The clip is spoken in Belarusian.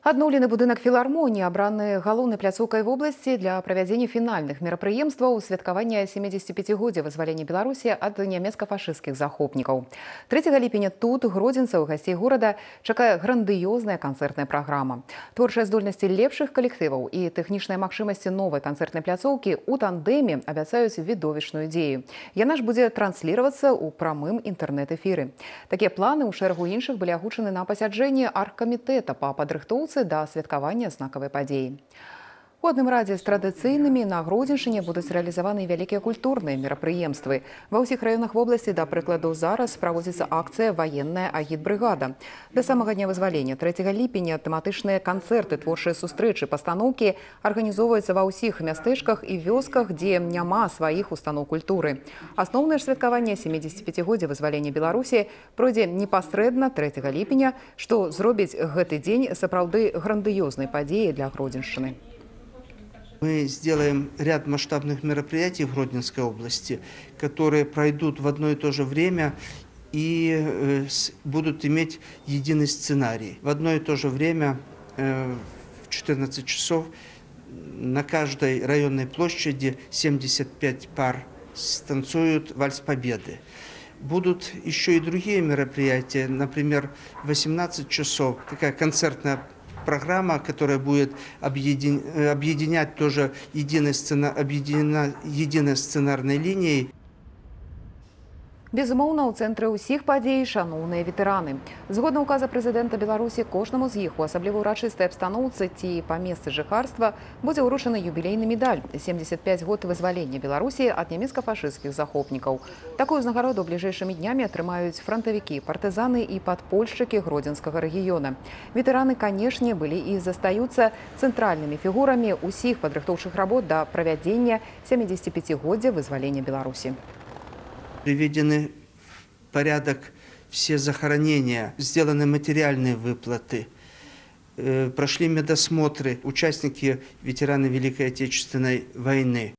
Адноўлены будынак філармоніі абраны галоўнай пляцоўкай вобласці для правядзення фінальных мерапрыемстваў святкавання 75годдзя вызвалення Беларусі ад нямецка-фашысцкіх захопнікаў. 3 ліпеня тут гродзенцаў гасцей горада чакае грандыёзная канцэртная праграма. Творчыя здольнасці лепшых калектываў і тэхнічныя магчымасці новай канцэртнай пляцоўкі ў тандэме абяцаюць відовішчную дзею. Яна ж будзе трансліравацца ў прамым інтэрнэт-эфіры. Такія планы ў шэрагу іншых былі агучаны на пасяджэнні аргкамітэта па падрыхтоўцы да святкавання знакавай падзеі. У адным радзе з традыцыйнымі на Гродзеншчыне будуць рэалізаваны вялікія культурныя мерапрыемствы. Ва ўсіх раёнах вобласці, да прыкладу, зараз праводзіцца акцыя «Ваенная агітбрыгада». Да самага дня вызвалення 3 ліпеня тэматычныя канцэрты, творчыя сустрэчы, пастаноўкі арганізоўваюцца ва ўсіх мястэчках і вёсках, дзе няма сваіх устаноў культуры. Асноўнае ж святкаванне 75годдзя вызвалення Беларусі пройдзе непасрэдна 3 ліпеня, што зробіць гэты дзень сапраўды грандыёзнай падзеяй для Гродзеншчыны. Мы сделаем ряд масштабных мероприятий в Гродненской области, которые пройдут в одно и то же время и будут иметь единый сценарий. В одно и то же время в 14 часов на каждой районной площади 75 пар станцуют «Вальс Победы». Будут еще и другие мероприятия, например, в 18 часов такая концертная программа, которая будет объединять тоже единой сценарной линией. Безумоўна, у цэнтры ўсіх падзей шаноўныя ветэраны. Згодна указа прэзідэнта Беларусі, кожнаму з іх у асабліва ўрачыстай абстаноўцы ці па месцы жыхарства будзе ўручаны юбілейны медаль 75 год вызвалення Беларусі ад нямецка-фашысцкіх захопнікаў. Такую ўзнагароду бліжэйшымі днямі атрымаюць франтавікі, партызаны і падпольшчыкі гродзенскага рэгіёна. Ветэраны, канешне, былі і застаюцца цэнтральнымі фігурамі ўсіх падрыхтоўчых работ да правядзення 75годдзя вызвалення Беларусі. Приведены в порядок все захоронения, сделаны материальные выплаты, прошли медосмотры участники, ветераны Великой Отечественной войны.